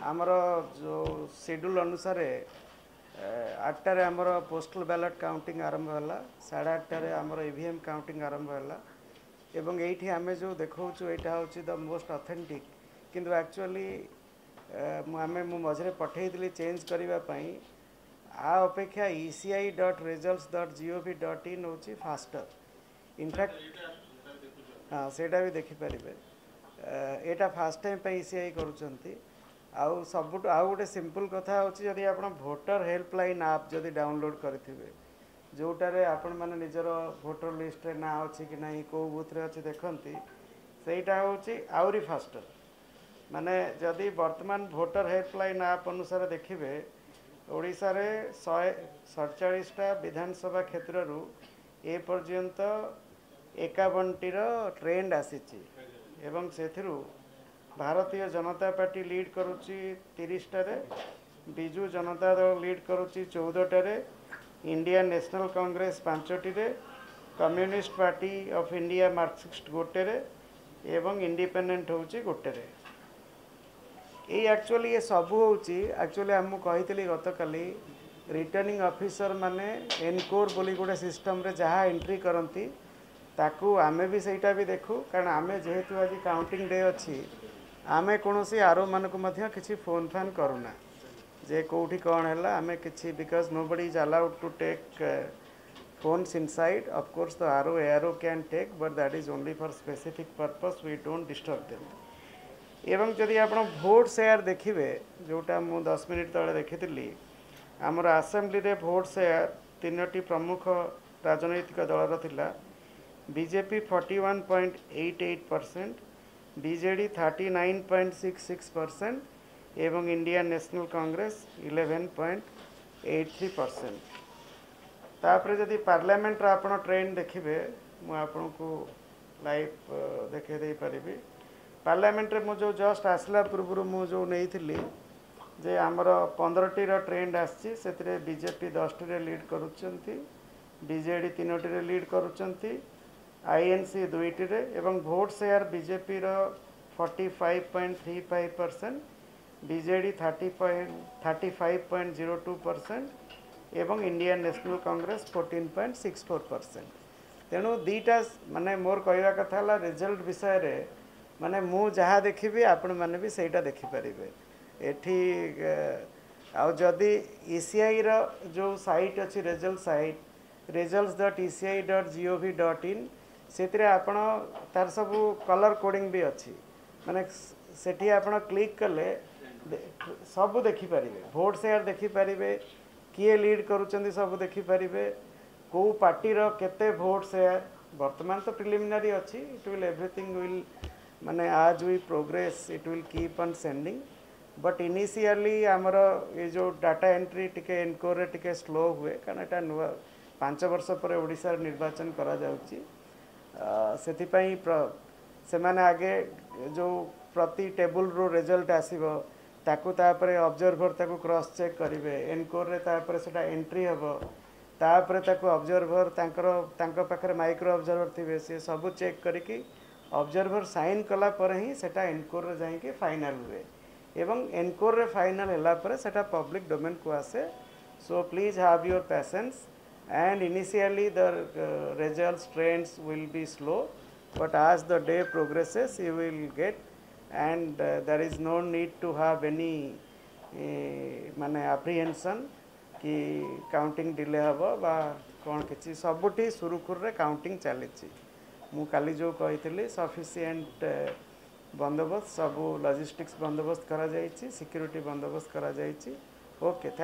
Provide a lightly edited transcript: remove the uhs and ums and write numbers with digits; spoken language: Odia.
ଆମର ଯେଉଁ ସିଡ୍ୟୁଲ୍ ଅନୁସାରେ 8ଟାରେ ଆମର ପୋଷ୍ଟାଲ ବ୍ୟାଲଟ୍ କାଉଣ୍ଟିଂ ଆରମ୍ଭ ହେଲା, 8:30ରେ ଆମର ଇଭିଏମ୍ କାଉଣ୍ଟିଂ ଆରମ୍ଭ ହେଲା। ଏବଂ ଏଇଠି ଆମେ ଯେଉଁ ଦେଖାଉଛୁ, ଏଇଟା ହେଉଛି the most authentic. କିନ୍ତୁ ଆକ୍ଚୁଆଲି ମୁଁ ମଝିରେ ପଠେଇଥିଲି ଚେଞ୍ଜ କରିବା ପାଇଁ। ଆ ଅପେକ୍ଷା eci.results.gov.in ହେଉଛି ଫାଷ୍ଟର। ଇନଫ୍ୟାକ୍ଟ ହଁ, ସେଇଟା ବି ଦେଖିପାରିବେ। ଏଇଟା ଫାଷ୍ଟ ଟାଇମ୍ ପାଇଁ ଇସିଆଇ କରୁଛନ୍ତି। ଆଉ ସବୁଠୁ ଆଉ ଗୋଟେ ସିମ୍ପଲ୍ କଥା ହେଉଛି, ଯଦି ଆପଣ ଭୋଟର ହେଲ୍ପଲାଇନ୍ ଆପ୍ ଯଦି ଡାଉନଲୋଡ଼୍ କରିଥିବେ, ଯେଉଁଟାରେ ଆପଣମାନେ ନିଜର ଭୋଟର ଲିଷ୍ଟରେ ନାଁ ଅଛି କି ନାହିଁ, କେଉଁ ବୁଥରେ ଅଛି ଦେଖନ୍ତି, ସେଇଟା ହେଉଛି ଆହୁରି ଫାଷ୍ଟର। ମାନେ ଯଦି ବର୍ତ୍ତମାନ ଭୋଟର ହେଲ୍ପଲାଇନ୍ ଆପ୍ ଅନୁସାରେ ଦେଖିବେ, ଓଡ଼ିଶାରେ 147ଟା ବିଧାନସଭା କ୍ଷେତ୍ରରୁ ଏ ପର୍ଯ୍ୟନ୍ତ 51ଟିର ଟ୍ରେଣ୍ଡ ଆସିଛି ଏବଂ ସେଥିରୁ ଭାରତୀୟ ଜନତା ପାର୍ଟି ଲିଡ୍ କରୁଛି 30ଟାରେ, ବିଜୁ ଜନତା ଦଳ ଲିଡ୍ କରୁଛି 14ଟାରେ, ଇଣ୍ଡିଆନ୍ ନ୍ୟାସନାଲ୍ କଂଗ୍ରେସ ପାଞ୍ଚଟିରେ, communist party of India Marxist ଗୋଟେରେ ଏବଂ ଇଣ୍ଡିପେଣ୍ଡେଣ୍ଟ ହେଉଛି ଗୋଟେରେ। ଏଇ ଆକ୍ଚୁଆଲି ଏ ସବୁ ହେଉଛି, ଆକ୍ଚୁଆଲି ମୁଁ କହିଥିଲି ଗତକାଲି, ରିଟର୍ଣ୍ଣିଂ ଅଫିସର ମାନେ ଏନକୋର୍ ବୋଲି ଗୋଟେ ସିଷ୍ଟମ୍ରେ ଯାହା ଏଣ୍ଟ୍ରି କରନ୍ତି, ତାକୁ ଆମେ ବି ସେଇଟା ବି ଦେଖୁ। କାରଣ ଆମେ ଯେହେତୁ ଆଜି କାଉଣ୍ଟିଂ ଡେ ଅଛି, ଆମେ କୌଣସି ଆରୋମାନଙ୍କୁ ମଧ୍ୟ କିଛି ଫୋନ୍ ଫାନ୍ କରୁନା ଯେ କେଉଁଠି କ'ଣ ହେଲା। ଆମେ କିଛି, because nobody is allowed to take phones inside. Of course, the RO, ARO can take, but that is only for specific purpose. We don't disturb them. ଏବଂ ଯଦି ଆପଣ ଭୋଟ୍ ସେୟାର ଦେଖିବେ, ଯେଉଁଟା ମୁଁ 10 ମିନିଟ୍ ତଳେ ଦେଖିଥିଲି, ଆମର ଆସେମ୍ବଲିରେ ଭୋଟ୍ ସେୟାର ତିନୋଟି ପ୍ରମୁଖ ରାଜନୈତିକ ଦଳର ଥିଲା। ବିଜେପି 41.88%, ବିଜେଡ଼ି 39.66% ଏବଂ ଇଣ୍ଡିଆନ୍ ନ୍ୟାସନାଲ୍ କଂଗ୍ରେସ 11.83%। ତାପରେ ଯଦି ପାର୍ଲାମେଣ୍ଟର ଆପଣ ଟ୍ରେଣ୍ଡ ଦେଖିବେ, ମୁଁ ଆପଣଙ୍କୁ ଲାଇଭ୍ ଦେଖାଇ ଦେଇପାରିବି। ପାର୍ଲାମେଣ୍ଟରେ ମୁଁ ଯେଉଁ ଜଷ୍ଟ ଆସିଲା ପୂର୍ବରୁ ମୁଁ ଯେଉଁ ନେଇଥିଲି ଯେ ଆମର 15ଟିର ଟ୍ରେଣ୍ଡ ଆସିଛି, ସେଥିରେ ବିଜେପି 10ଟିରେ ଲିଡ୍ କରୁଛନ୍ତି, ବିଜେଡ଼ି ତିନୋଟିରେ ଲିଡ୍ କରୁଛନ୍ତି, ଆଇଏନ୍ସି ଦୁଇଟିରେ। ଏବଂ ଭୋଟ୍ ସେୟାର ବିଜେପିର 45.35%, ବିଜେଡ଼ି 35.02% ଏବଂ ଇଣ୍ଡିଆନ୍ ନ୍ୟାସନାଲ୍ କଂଗ୍ରେସ 14.64%। ତେଣୁ ଦୁଇଟା, ମାନେ ମୋର କହିବା କଥା ହେଲା, ରେଜଲ୍ଟ ବିଷୟରେ ମାନେ ମୁଁ ଯାହା ଦେଖିବି, ଆପଣମାନେ ବି ସେଇଟା ଦେଖିପାରିବେ ଏଠି। ଆଉ ଯଦି ଇସିଆଇର ଯେଉଁ ସାଇଟ୍ ଅଛି, ରେଜଲ୍ଟ ସାଇଟ୍ results.eci.gov.in, ସେଥିରେ ଆପଣ ତାର ସବୁ କଲର୍ କୋଡ଼ିଂ ବି ଅଛି। ମାନେ ସେଠି ଆପଣ କ୍ଲିକ୍ କଲେ ସବୁ ଦେଖିପାରିବେ, ଭୋଟ୍ ସେୟାର ଦେଖିପାରିବେ, କିଏ ଲିଡ୍ କରୁଛନ୍ତି ସବୁ ଦେଖିପାରିବେ, କେଉଁ ପାର୍ଟିର କେତେ ଭୋଟ୍ ସେୟାର। ବର୍ତ୍ତମାନ ତ ପ୍ରିଲିମିନାରୀ ଅଛି। It will everything will ମାନେ as we progress, it will keep on sending, but initially ଆମର ଏ ଯେଉଁ ଡାଟା ଏଣ୍ଟ୍ରି ଟିକେ ଏନକୋରରେ ଟିକେ ସ୍ଲୋ ହୁଏ, କାରଣ ଏଇଟା ନୂଆ, 5 ବର୍ଷ ପରେ ଓଡ଼ିଶାରେ ନିର୍ବାଚନ କରାଯାଉଛି। ସେଥିପାଇଁ ସେମାନେ ଆଗେ ଯେଉଁ ପ୍ରତି ଟେବୁଲରୁ ରେଜଲ୍ଟ ଆସିବ, ତାକୁ ତାପରେ ଅବଜର୍ଭର ତାକୁ କ୍ରସ୍ ଚେକ୍ କରିବେ ଏନକୋରରେ, ତାପରେ ସେଟା ଏଣ୍ଟ୍ରି ହେବ, ତାପରେ ତାକୁ ଅବଜର୍ଭର ତାଙ୍କର, ତାଙ୍କ ପାଖରେ ମାଇକ୍ରୋ ଅବଜର୍ଭର ଥିବେ, ସେ ସବୁ ଚେକ୍ କରିକି ଅବଜର୍ଭର ସାଇନ୍ କଲା ପରେ ହିଁ ସେଟା ଏନକୋରରେ ଯାଇକି ଫାଇନାଲ୍ ହୁଏ। ଏବଂ ଏନକୋରରେ ଫାଇନାଲ୍ ହେଲା ପରେ ସେଟା ପବ୍ଲିକ୍ ଡୋମେନ୍କୁ ଆସେ। So please have your patience, and initially the results trends will be slow, but as the day progresses you will get, and there is no need to have any ମାନେ apprehension କି କାଉଣ୍ଟିଂ ଡିଲେ ହେବ ବା କ'ଣ କିଛି। ସବୁଠି ସୁରୁଖୁରୁରେ କାଉଣ୍ଟିଂ ଚାଲିଛି। ମୁଁ କାଲି ଯେଉଁ କହିଥିଲି, ସଫିସିଏଣ୍ଟ ବନ୍ଦୋବସ୍ତ, ସବୁ ଲଜିଷ୍ଟିକ୍ସ ବନ୍ଦୋବସ୍ତ କରାଯାଇଛି, ସିକ୍ୟୁରିଟି ବନ୍ଦୋବସ୍ତ କରାଯାଇଛି। Okay, thank.